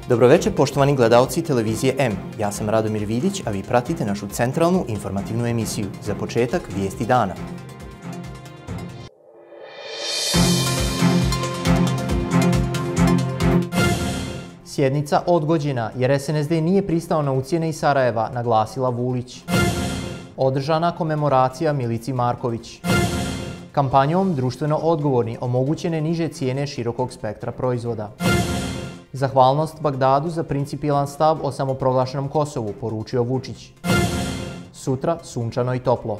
Dobroveče poštovani gledaoci televizije M. Ja sam Radomir Vidić, a vi pratite našu centralnu informativnu emisiju. Za početak, vijesti dana. Sjednica odgođena jer SNSD nije pristao na ucjene iz Sarajeva, naglasila Vulić. Održana komemoracija Milici Marković. Kampanjom društveno odgovorni omogućene niže cijene širokog spektra proizvoda. Zahvalnost Bagdadu za principijelan stav o samoproglašenom Kosovu, poručio Vučić. Sutra sunčano i toplo.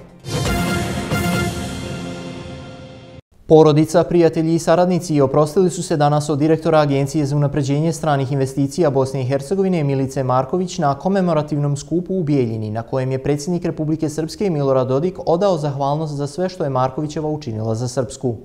Porodica, prijatelji i saradnici oprostili su se danas od direktora Agencije za unapređenje stranih investicija Bosne i Hercegovine Milice Marković na komemorativnom skupu u Bijeljini, na kojem je predsjednik Republike Srpske Milorad Dodik odao zahvalnost za sve što je Markovićeva učinila za Srpsku.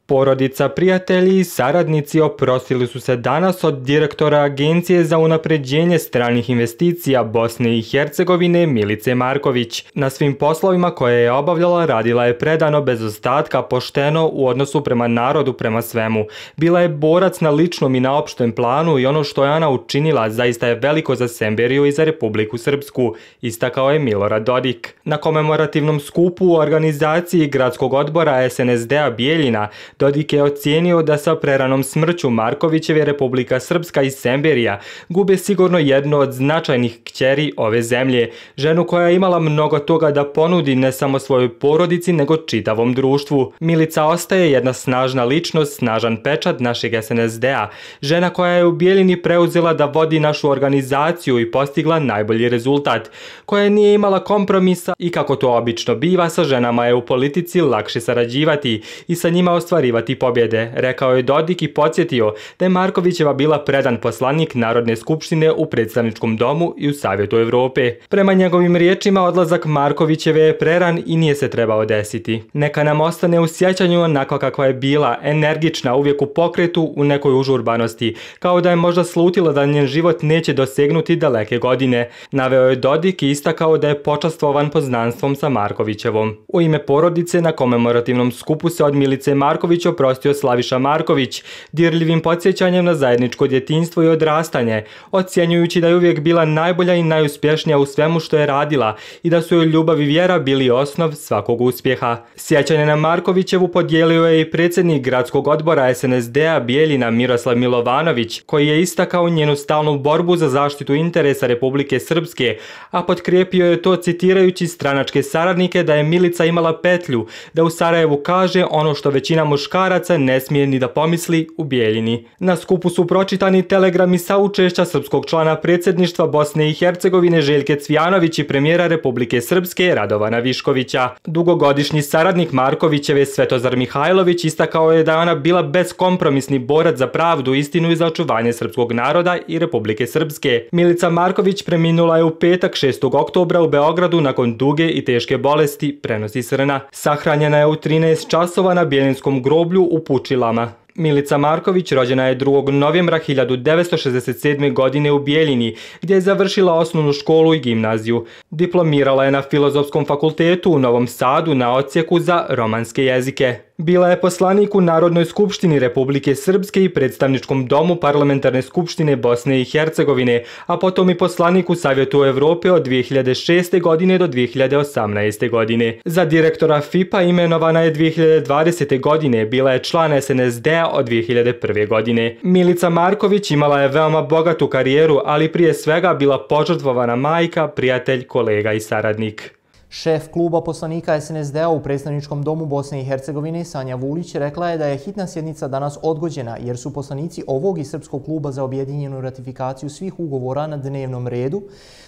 Porodica, prijatelji i saradnici oprostili su se danas od direktora Agencije za unapređenje stranih investicija Bosne i Hercegovine Milice Marković. Na svim poslovima koje je obavljala radila je predano, bez ostatka, pošteno u odnosu prema narodu, prema svemu. Bila je borac na ličnom i na opštem planu i ono što je ona učinila zaista je veliko za Semberiju i za Republiku Srpsku, istakao je Milorad Dodik. Na komemorativnom skupu u organizaciji Gradskog odbora SNSD-a Bijeljina Dodik je ocijenio da sa preranom smrću Markovićeve Republika Srpska i Semberija gube sigurno jednu od značajnih kćeri ove zemlje, ženu koja je imala mnogo toga da ponudi ne samo svojoj porodici nego čitavom društvu. Milica ostaje jedna snažna ličnost, snažan pečat našeg SNSD-a, žena koja je u Bijeljini preuzela da vodi našu organizaciju i postigla najbolji rezultat, koja nije imala kompromisa i kako to obično biva, sa ženama je u politici lakše sarađivati i sa njima ostvarivati pobjede, rekao je Dodik i podsjetio da je Markovićeva bila predan poslanik Narodne skupštine u Predstavničkom domu i u Savjetu Evrope. Prema njegovim riječima, odlazak Markovićeve je preran i nije se trebao desiti. Neka nam ostane u sjećanju onako kakva je bila, energična, uvijek u pokretu, u nekoj užurbanosti, kao da je možda slutila da njen život neće dosegnuti daleke godine, naveo je Dodik i istakao da je počastvovan poznanstvom sa Markovićevom. U ime porodice na komemorativnom skupu se od Milice Marković oprostio Slaviša Marković, dirljivim podsjećanjem na zajedničko djetinjstvo i odrastanje, ocjenjujući da je uvijek bila najbolja i najuspješnija u svemu što je radila i da su joj ljubav i vjera bili osnov svakog uspjeha. Sjećanje na Markovićevu podijelio je i predsjednik Gradskog odbora SNSD-a Bijeljina Miroslav Milovanović, koji je istakao njenu stalnu borbu za zaštitu interesa Republike Srpske, a potkrijepio je to citirajući stranačke saradnike da je Milica imala petlju da u Sarajevu kaže ono što većina muškaraca ne smije ni da pomisli u Bijeljini. Na skupu su pročitani telegrami saučešća srpskog člana predsjedništva Bosne i Hercegovine Željke Cvijanović i premijera Republike Srpske Radovana Viškovića. Dugogodišnji saradnik Markovićeve Svetozar Mihajlović istakao je da je ona bila beskompromisni borac za pravdu, istinu i za očuvanje srpskog naroda i Republike Srpske. Milica Marković preminula je u petak 6. oktobra u Beogradu nakon duge i teške bolesti, prenosi Srna. Sahranjena je u 13 časova na Bijeljinskom groblju u Pučilama. Milica Marković rođena je 2. novembra 1967. godine u Bijeljini, gdje je završila osnovnu školu i gimnaziju. Diplomirala je na Filozofskom fakultetu u Novom Sadu na odsjeku za romanske jezike. Bila je poslanik u Narodnoj skupštini Republike Srpske i Predstavničkom domu Parlamentarne skupštine Bosne i Hercegovine, a potom i poslanik u Savjetu Evrope od 2006. godine do 2018. godine. Za direktora FIP-a imenovana je 2020. godine, bila je član SNSD-a od 2001. godine. Milica Marković imala je veoma bogatu karijeru, ali prije svega bila požrtvovana majka, prijatelj, kolega i saradnik. Šef kluba poslanika SNSD-a u Predstavničkom domu Bosne i Hercegovine Sanja Vulić rekla je da je hitna sjednica danas odgođena jer su poslanici ovog i Srpskog kluba za objedinjenu ratifikaciju svih ugovora na dnevnom redu,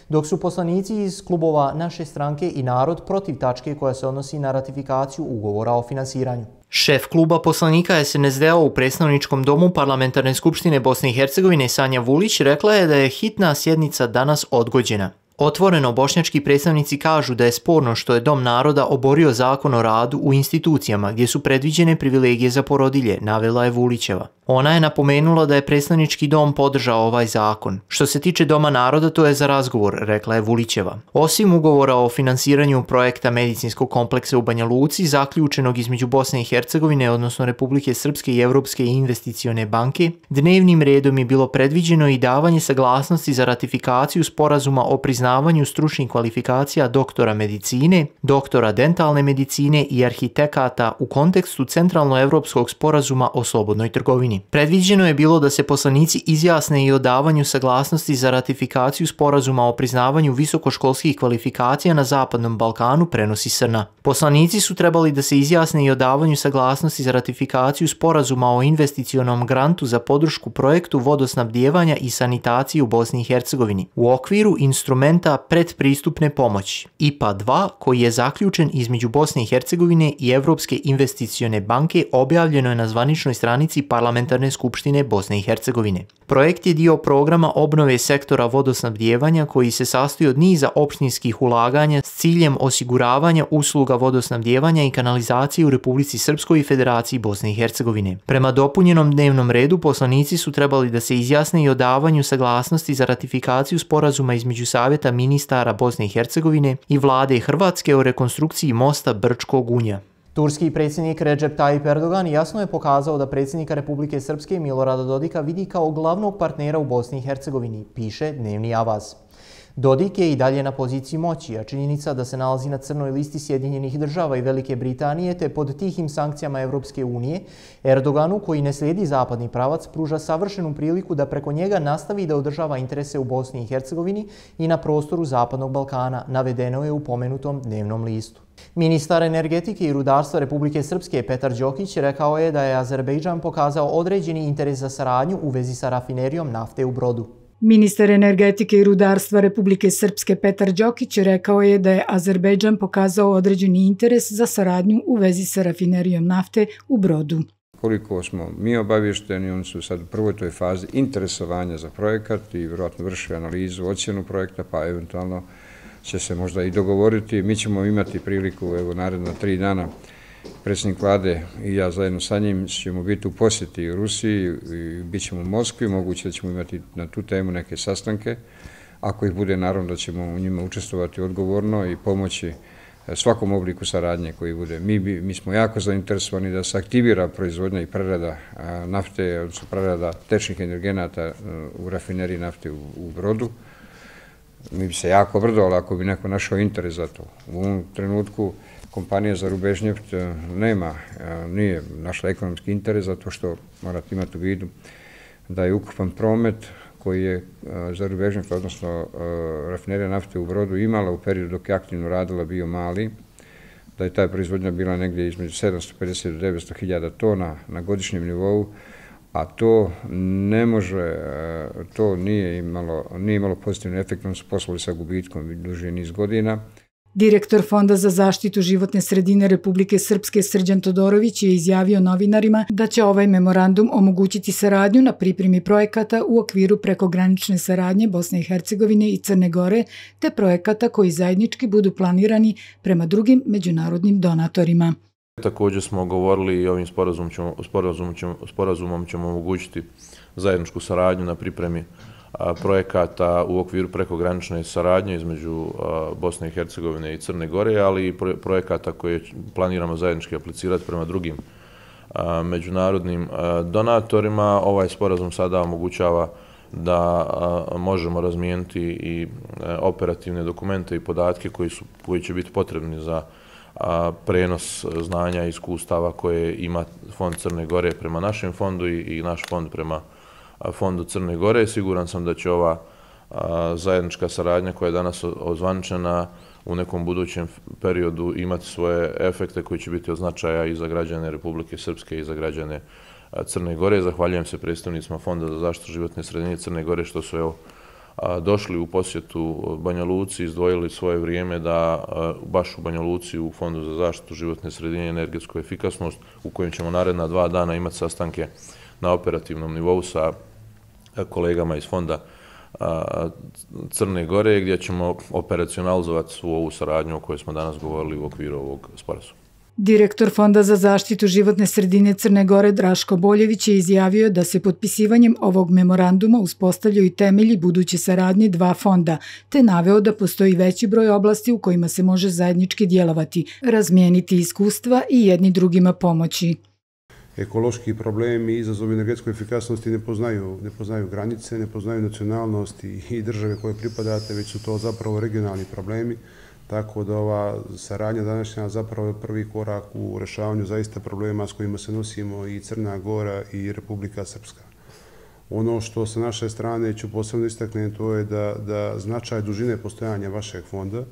dok su poslanici iz klubova Naše stranke i Narod protiv tačke koja se odnosi na ratifikaciju ugovora o finansiranju. Šef kluba poslanika SNSD-a u Predstavničkom domu Parlamentarne skupštine Bosne i Hercegovine Sanja Vulić rekla je da je hitna sjednica danas odgođena. Otvoreno bošnjački predstavnici kažu da je sporno što je Dom naroda oborio zakon o radu u institucijama gdje su predviđene privilegije za porodilje, navela je Vulićeva. Ona je napomenula da je predstavnički dom podržao ovaj zakon. Što se tiče Doma naroda, to je za razgovor, rekla je Vulićeva. Osim ugovora o finansiranju projekta medicinskog kompleksa u Banja Luci, zaključenog između Bosne i Hercegovine, odnosno Republike Srpske i Europske investicione banke, dnevnim redom je bilo predviđeno i davanje saglasnosti za ratifikaciju sporazuma o priznavanju stručnih kvalifikacija doktora medicine, doktora dentalne medicine i arhitekata u kontekstu Centralnoevropskog sporazuma o slobodnoj trgovini. Predviđeno je bilo da se poslanici izjasne i o davanju saglasnosti za ratifikaciju sporazuma o priznavanju visokoškolskih kvalifikacija na Zapadnom Balkanu, prenosi SRNA. Poslanici su trebali da se izjasne i o davanju saglasnosti za ratifikaciju sporazuma o investicionom grantu za podršku projektu vodosnabdijevanja i sanitacije u Bosni i Hercegovini u okviru instrumenta predpristupne pomoći IPA 2, koji je zaključen između Bosne i Hercegovine i Europske investicione banke, objavljeno je na zvaničnoj stranici Parlamentarne skupštine Bosne i Hercegovine. Projekt je dio programa obnove sektora vodosnabdijevanja koji se sastoji od niza opštinskih ulaganja s ciljem osiguravanja usluga vodosnabdijevanja i kanalizacije u Republici Srpskoj i Federaciji Bosne i Hercegovine. Prema dopunjenom dnevnom redu, poslanici su trebali da se izjasne i o davanju saglasnosti za ratifikaciju sporazuma između Savjeta ministara Bosne i Hercegovine i vlade Hrvatske o rekonstrukciji mosta Brčko-Gunja. Turski predsjednik Recep Tayyip Erdogan jasno je pokazao da predsjednika Republike Srpske Milorada Dodika vidi kao glavnog partnera u Bosni i Hercegovini, piše Dnevni Avaz. Dodik je i dalje na poziciji moći, a činjenica da se nalazi na crnoj listi Sjedinjenih država i Velike Britanije te pod tihim sankcijama Europske unije, Erdoganu, koji ne slijedi zapadni pravac, pruža savršenu priliku da preko njega nastavi da održava interese u Bosni i Hercegovini i na prostoru Zapadnog Balkana, navedeno je u pomenutom dnevnom listu. Ministar energetike i rudarstva Republike Srpske Petar Đokić rekao je da je Azerbejdžan pokazao određeni interes za saradnju u vezi sa rafinerijom nafte u Brodu. Ministar energetike i rudarstva Republike Srpske Petar Đokić rekao je da je Azerbejdžan pokazao određeni interes za saradnju u vezi sa rafinerijom nafte u Brodu. Koliko smo mi obavješteni, oni su sad u prvoj toj fazi interesovanja za projekat i vjerojatno vrše analizu, ocjenu projekta, pa eventualno će se možda i dogovoriti. Mi ćemo imati priliku, evo, naredna 3 dana, predsjednik vlade i ja zajedno sa njim ćemo biti u posjeti u Rusiji i bit ćemo u Moskvi, moguće da ćemo imati na tu temu neke sastanke. Ako ih bude, naravno da ćemo u njima učestvovati odgovorno i pomoći svakom obliku saradnje koji bude. Mi smo jako zainteresovani da se aktivira proizvodnja i prerada nafte, odnosno prerada tečnih energenata u rafineriji nafte u Brodu. Mi bi se jako obradovali ako bi neko našao interes za to. U ovom trenutku kompanija za Rubežnjeft nije našla ekonomski interes, zato što morate imati u vidu da je ukupan promet koji je za Rubežnjeft, odnosno rafinerija nafte u Brodu, imala u periodu dok je aktivno radila bio mali, da je ta proizvodnja bila negdje između 750 do 900 hiljada tona na godišnjem nivou, a to ne može, to nije imalo pozitivni efekt, oni su poslovali sa gubitkom duži niz godina. Direktor Fonda za zaštitu životne sredine Republike Srpske Srđan Todorović je izjavio novinarima da će ovaj memorandum omogućiti saradnju na pripremi projekata u okviru prekogranične saradnje Bosne i Hercegovine i Crne Gore, te projekata koji zajednički budu planirani prema drugim međunarodnim donatorima. Također smo govorili i ovim sporazumom ćemo omogućiti zajedničku saradnju na pripremi projekata u okviru prekogranične saradnje između Bosne i Hercegovine i Crne Gore, ali i projekata koje planiramo zajednički aplicirati prema drugim međunarodnim donatorima. Ovaj sporazum sada omogućava da možemo razmijeniti i operativne dokumente i podatke koji će biti potrebni za prenos znanja i iskustava koje ima Fond Crne Gore prema našem fondu i naš fond prema Fondu Crne Gore. Siguran sam da će ova zajednička saradnja koja je danas ozvaničena u nekom budućem periodu imati svoje efekte koji će biti od značaja i za građane Republike Srpske i za građane Crne Gore. Zahvaljujem se predstavnicima Fonda za zaštitu životne sredine Crne Gore što su došli u posjetu Banja Luci, izdvojili svoje vrijeme da baš u Banja Luci u Fondu za zaštitu životne sredine i energetsku efikasnost, u kojem ćemo naredna 2 dana imati sastanke na operativnom nivou sa kolegama iz Fonda Crne Gore, gdje ćemo operacionalizovati svu ovu saradnju o kojoj smo danas govorili u okviru ovog sporazuma. Direktor Fonda za zaštitu životne sredine Crne Gore Draško Boljević je izjavio da se potpisivanjem ovog memoranduma uspostavljaju temelji buduće saradnje dva fonda, te naveo da postoji veći broj oblasti u kojima se može zajednički djelovati, razmijeniti iskustva i jedni drugima pomoći. Ekološki problemi i izazovi energetske efikasnosti ne poznaju granice, ne poznaju nacionalnosti i države koje pripadate, već su to zapravo regionalni problemi. Tako da ova saradnja današnja zapravo je prvi korak u rešavanju zaista problema s kojima se nosimo i Crna Gora i Republika Srpska. Ono što sa naše strane ću posebno istaknuti, to je da značaj dužine postojanja vašeg fonda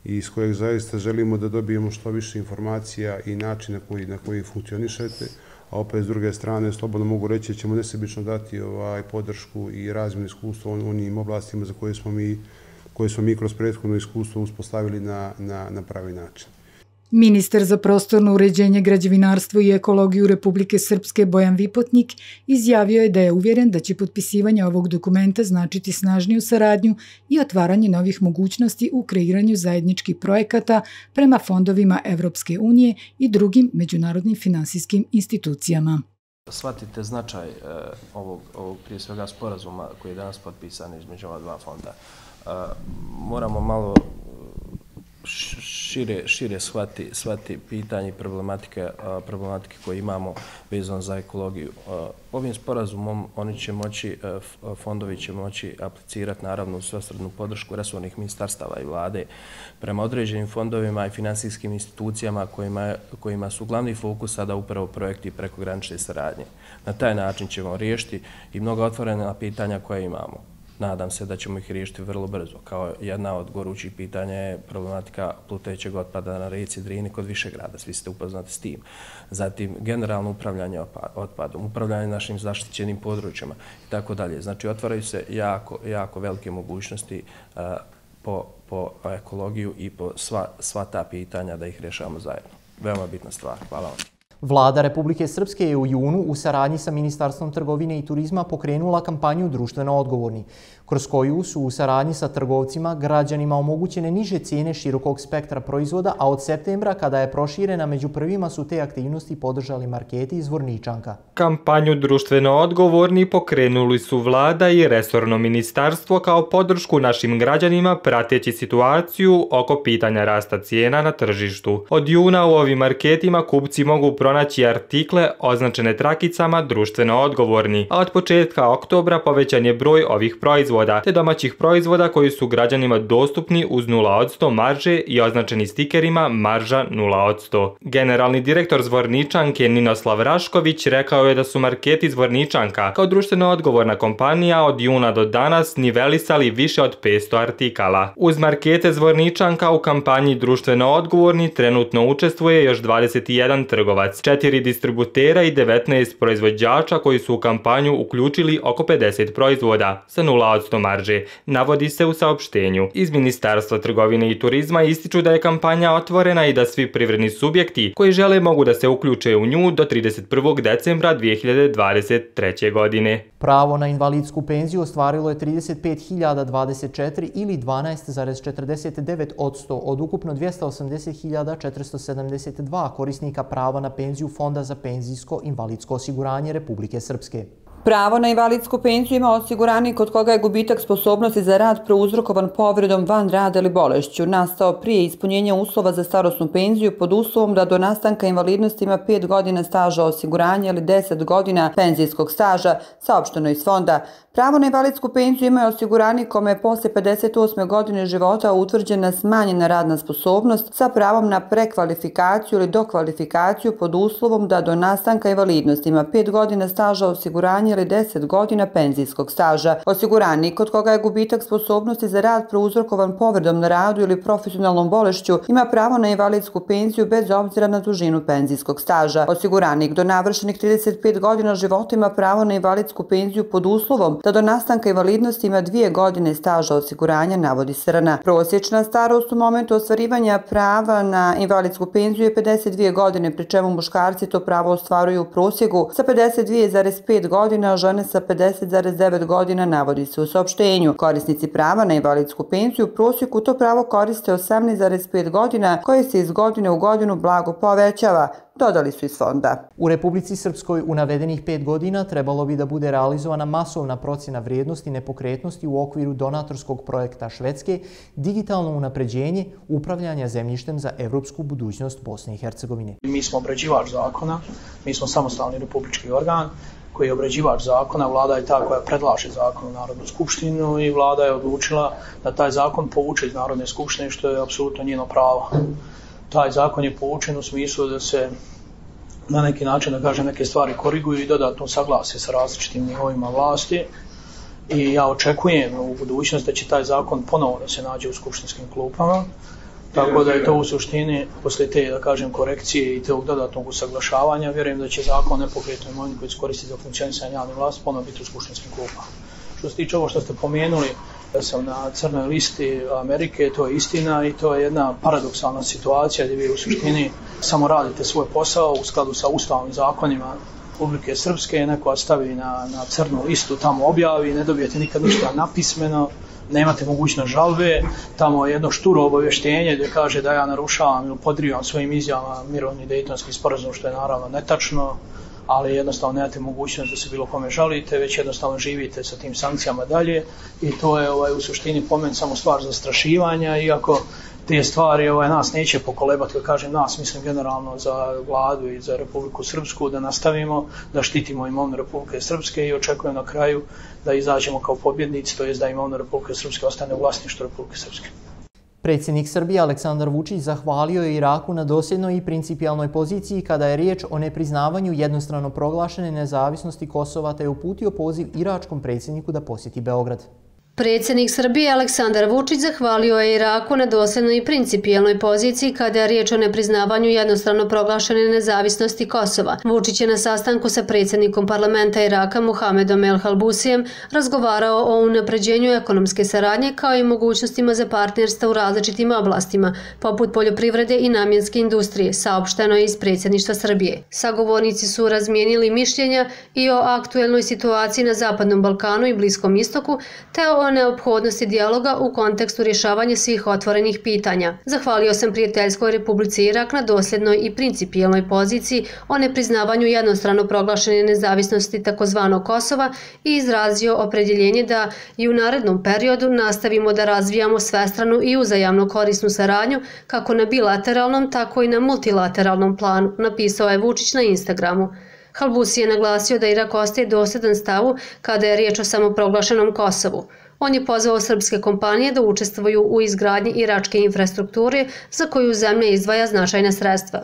i s kojeg zaista želimo da dobijemo što više informacija i način na koji funkcionišete, a opet s druge strane slobodno mogu reći da ćemo nesebično dati podršku i razmjenu iskustva u onim oblastima za koje smo mi kroz prethodno iskustvo uspostavili na pravi način. Ministar za prostorno uređenje, građevinarstvo i ekologiju Republike Srpske Bojan Vipotnik izjavio je da je uvjeren da će potpisivanje ovog dokumenta značiti snažniju saradnju i otvaranje novih mogućnosti u kreiranju zajedničkih projekata prema fondovima Evropske unije i drugim međunarodnim finansijskim institucijama. Shvatite značaj ovog prije svega sporazuma koji je danas potpisan između ova dva fonda. Moramo malo šire shvati pitanje i problematike koje imamo vezano za ekologiju. Ovim sporazumom fondovi će moći aplicirati naravno u svesrdnu podršku resornih ministarstava i vlade prema određenim fondovima i finansijskim institucijama kojima su glavni fokus sada upravo projekti prekogranične saradnje. Na taj način ćemo riješiti i mnoga otvorena pitanja koja imamo. Nadam se da ćemo ih riješiti vrlo brzo. Kao jedna od gorućih pitanja je problematika plutećeg otpada na rijeci Drini kod Višegrada. Svi ste upoznati s tim. Zatim, generalno upravljanje otpadom, upravljanje našim zaštićenim područjima i tako dalje. Znači, otvaraju se jako velike mogućnosti po ekologiju i po sva ta pitanja da ih rješavamo zajedno. Veoma bitna stvar. Hvala vam. Vlada Republike Srpske je u junu u saradnji sa Ministarstvom trgovine i turizma pokrenula kampanju Društveno odgovorni, kroz koju su u saradnji sa trgovcima građanima omogućene niže cijene širokog spektra proizvoda, a od septembra, kada je proširena, među prvima su te aktivnosti podržali marketi iz Zvorničanka. Kampanju Društveno odgovorni pokrenuli su Vlada i resorno ministarstvo kao podršku našim građanima prateći situaciju oko pitanja rasta cijena na tržištu. Od juna u ovim marketima kupci mogu pronaći artikle označene trakicama društveno odgovorni, a od početka oktobra povećan je broj ovih proizvoda, te domaćih proizvoda koji su građanima dostupni uz 0% marže i označeni stikerima marža 0%. Generalni direktor Zvorničanke Ninoslav Rašković rekao je da su marketi Zvorničanka kao društveno odgovorna kompanija od juna do danas nivelisali više od 500 artikala. Uz markete Zvorničanka u kampanji Društveno odgovorni trenutno učestvuje još 21 trgovac, 4 distributera i 19 proizvođača koji su u kampanju uključili oko 50 proizvoda sa 0% marže, navodi se u saopštenju. Iz Ministarstva trgovine i turizma ističu da je kampanja otvorena i da svi privredni subjekti koji žele mogu da se uključe u nju do 31. decembra 2023. godine. Pravo na invalidsku penziju ostvarilo je 35.024 ili 12,49% od ukupno 280.472 korisnika prava na penziju Fonda za penzijsko invalidsko osiguranje Republike Srpske. Pravo na invalidsku penziju ima osiguranik kod koga je gubitak sposobnosti za rad prouzrokovan povredom van rada ili bolešću nastao prije ispunjenja uslova za starosnu penziju pod uslovom da do nastanka invalidnosti ima 5 godina staža osiguranja ili 10 godina penzijskog staža, saopšteno iz fonda. Pravo na invalidsku penziju ima osiguranik kome je posle 58. godine života utvrđena smanjena radna sposobnost sa pravom na prekvalifikaciju ili dokvalifikaciju pod uslovom da do nastanka invalidnosti ima 5 godina staža osiguranja ili 10 godina penzijskog staža. Osiguranik kod koga je gubitak sposobnosti za rad prouzrokovan povredom na radu ili profesionalnom bolešću ima pravo na invalidsku penziju bez obzira na dužinu penzijskog staža. Osiguranik do navršenih 35 godina života ima pravo na invalidsku penziju pod uslovom da do nastanka invalidnosti ima 2 godine staža osiguranja, navodi Srna. Prosječna starost u momentu ostvarivanja prava na invalidsku penziju je 52 godine, pri čemu muškarci to pravo ostvaruju u prosjeku sa 52,5 godina, godina, a žene sa 50,9 godina, navodi se u saopštenju. Korisnici prava na invalidsku penziju u prosjeku to pravo koriste 18,5 godina, koje se iz godine u godinu blago povećava, dodali su iz fonda. U Republici Srpskoj u navedenih 5 godina trebalo bi da bude realizovana masovna procjena vrijednosti nepokretnosti u okviru donatorskog projekta Švedske Digitalno unapređenje upravljanja zemljištem za evropsku budućnost Bosne i Hercegovine. Mi smo obrađivač zakona, mi smo samostalni republički organ koji je obrađivač zakona, vlada je ta koja predlaže zakon u Narodnu skupštinu i vlada je odlučila da taj zakon povuče iz Narodne skupštine, što je apsolutno njeno pravo. Taj zakon je povučen u smislu da se na neki način, da kažem, neke stvari koriguju i dodatno saglase sa različitim nivoima vlasti. I ja očekujem u budućnosti da će taj zakon ponovo da se nađe u skupštinskim klupama. Tako da je to u suštini, posle te, da kažem, korekcije i tog dodatnog usaglašavanja, vjerujem da će zakon nepokretnoj imovini koji se koristi za funkcionisanje javne vlasti ponovo biti u skupštinskim klupama. Što se tiče ovo što ste pomenuli, da sam na crnoj listi Amerike, to je istina i to je jedna paradoksalna situacija gdje vi u suštini samo radite svoj posao u skladu sa ustavnim zakonima Republike Srpske, neko vas stavi na crnu listu, tamo objavi, ne dobijete nikad ništa napismeno, nemate mogućnost žalbe, tamo je jedno šturo obavještenje gdje kaže da ja narušavam ili podrivam svojim izjavama mirovni Dejtonski sporazum, što je naravno netačno, ali jednostavno nemate mogućnost da se bilo kome žalite, već jednostavno živite sa tim sankcijama dalje i to je u suštini po meni samo stvar zastrašivanja, iako te stvari nas neće pokolebati, kad kažem nas, mislim generalno za vladu i za Republiku Srpsku, da nastavimo da štitimo imovinu Republike Srpske i očekujem na kraju da izađemo kao pobjednici, to jest da imovina Republike Srpske ostane u vlasništvu Republike Srpske. Predsjednik Srbije Aleksandar Vučić zahvalio je Iraku na dosljednoj i principijalnoj poziciji kada je riječ o nepriznavanju jednostrano proglašene nezavisnosti Kosova, te je uputio poziv iračkom predsjedniku da posjeti Beograd. Predsjednik Srbije Aleksandar Vučić zahvalio je Iraku na dosljednoj i principijelnoj poziciji kada je riječ o nepriznavanju jednostrano proglašene nezavisnosti Kosova. Vučić je na sastanku sa predsjednikom parlamenta Iraka Muhamedom El Halbusijem razgovarao o unapređenju ekonomske saradnje kao i mogućnostima za partnerstva u različitim oblastima, poput poljoprivrede i namjenske industrije, saopšteno je iz predsjedništva Srbije. Sagovornici su razmijenili mišljenja i o aktuelnoj situaciji na Zapadnom Balkanu i Bliskom istoku, te o neophodnosti dijaloga u kontekstu rješavanja svih otvorenih pitanja. Zahvalio sam prijateljskoj Republici Irak na dosljednoj i principijelnoj poziciji o nepriznavanju jednostrano proglašene nezavisnosti tzv. Kosova i izrazio opredjeljenje da i u narednom periodu nastavimo da razvijamo svestranu i uzajamno korisnu saradnju kako na bilateralnom, tako i na multilateralnom planu, napisao je Vučić na Instagramu. Halbusi je naglasio da Irak ostaje dosljedan stavu kada je riječ o samoproglašenom Kosovu. On je pozvao srpske kompanije da učestvuju u izgradnji iračke infrastrukture za koju zemlja izdvaja značajna sredstva.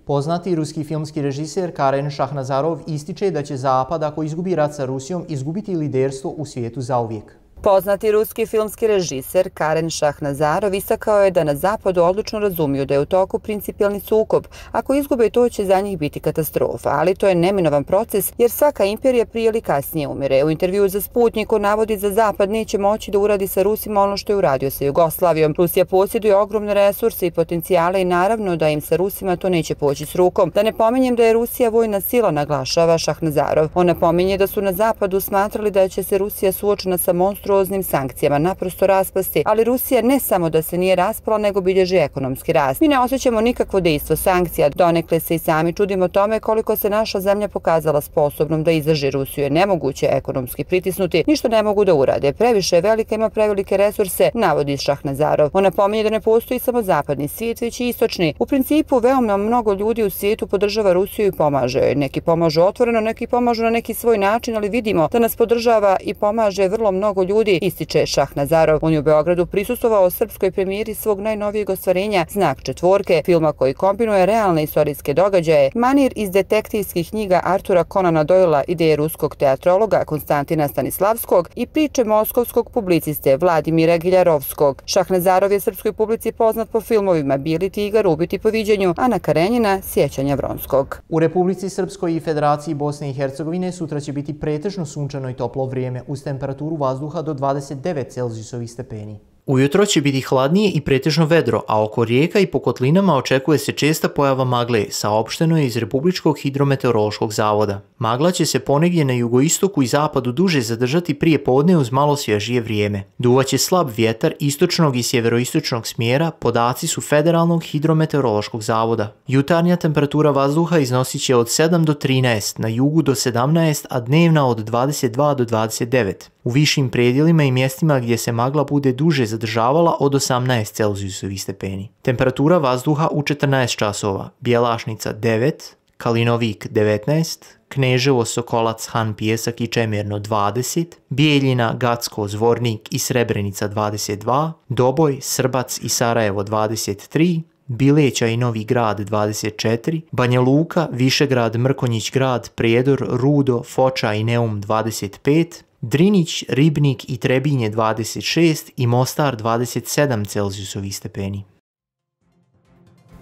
Poznati ruski filmski režiser Karen Šahnazarov ističe da će Zapad, ako izgubi rat sa Rusijom, izgubiti liderstvo u svijetu zauvijek. Poznati ruski filmski režiser Karen Šahnazarov istakao je da na Zapadu odlično razumiju da je u toku principijelni sukob. Ako izgube, to će za njih biti katastrofa, ali to je neminovan proces jer svaka imperija prije ili kasnije umire. U intervjuu za Sputnik on navodi da Zapad neće moći da uradi sa Rusima ono što je uradio sa Jugoslavijom. Rusija posjeduje ogromne resurse i potencijale i naravno da im sa Rusima to neće poći s rukom. Da ne pominjem da je Rusija vojna sila, naglašava Šahnazarov. On napominje da su na Zapadu smatrali da će se Rusija suočena sa monstruoznim sankcijama naprosto raspasti, ali Rusija ne samo da se nije raspala, nego bilježi ekonomski rast. Mi ne osjećamo nikakvo dejstvo sankcija, donekle se i sami čudimo tome koliko se naša zemlja pokazala sposobnom da izdrži. Rusiju je nemoguće ekonomski pritisnuti, ništa ne mogu da urade, previše je velika, ima prevelike resurse, navodi Šahnazarov. On napominje da ne postoji samo zapadni svijet, već i istočni. U principu, veoma mnogo ljudi u svijetu podržava Rusiju i pomaže. Neki pomažu otvoreno, neki pomažu na neki svoj način, ali vidimo da nas podržava i pomaže vrlo mnogo ljudi, ističe Šahnazarov. On je u Beogradu prisustvovao srpskoj premijeri svog najnovijeg ostvarenja Znak četvorke, filma koji kombinuje realne istorijske događaje, manir iz detektivskih knjiga Artura Conana Doylea, ideje ruskog teatrologa Konstantina Stanislavskog i priče moskovskog publiciste Vladimira Giljarovskog. Šahnazarov je srpskoj publici poznat po filmovima Bijeli tigar, Ubiti po viđenju, Ana Karenjina, Sjećanja Vronskog. U Republici Srpskoj i Federaciji Bosne i Hercegovine sutra će biti pretežno sunčano i toplo vrijeme uz temperaturu vazduha do 29 Celzijusovih stepeni. Ujutro će biti hladnije i pretežno vedro, a oko rijeka i po kotlinama očekuje se česta pojava magle, saopšteno je iz Republičkog hidrometeorološkog zavoda. Magla će se ponegdje na jugoistoku i zapadu duže zadržati prije podne uz malo svježije vrijeme. Duvaće slab vjetar istočnog i sjeveroistočnog smjera, podaci su Federalnog hidrometeorološkog zavoda. Jutarnja temperatura vazduha iznosit će od 7 do 13, na jugu do 17, a dnevna od 22 do 29. U višim predjelima i mjestima gdje se magla bude duže zadržavala od 18 Celzijusovih stepeni. Temperatura vazduha u 14 časova: Bjelašnica 9, Kalinovik 19, Kneževo, Sokolac, Han, Pijesak i Čemerno 20, Bijeljina, Gacko, Zvornik i Srebrenica 22, Doboj, Srbac i Sarajevo 23, Bileća i Novi Grad 24, Banja Luka, Višegrad, Mrkonjić Grad, Prijedor, Rudo, Foča i Neum 25, Drinić, Ribnik i Trebinje 26 i Mostar 27 Celzijusovih stepeni.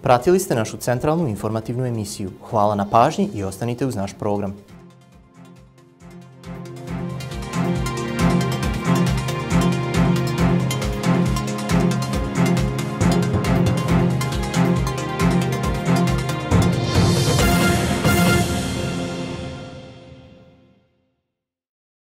Pratili ste našu centralnu informativnu emisiju. Hvala na pažnji i ostanite uz naš program.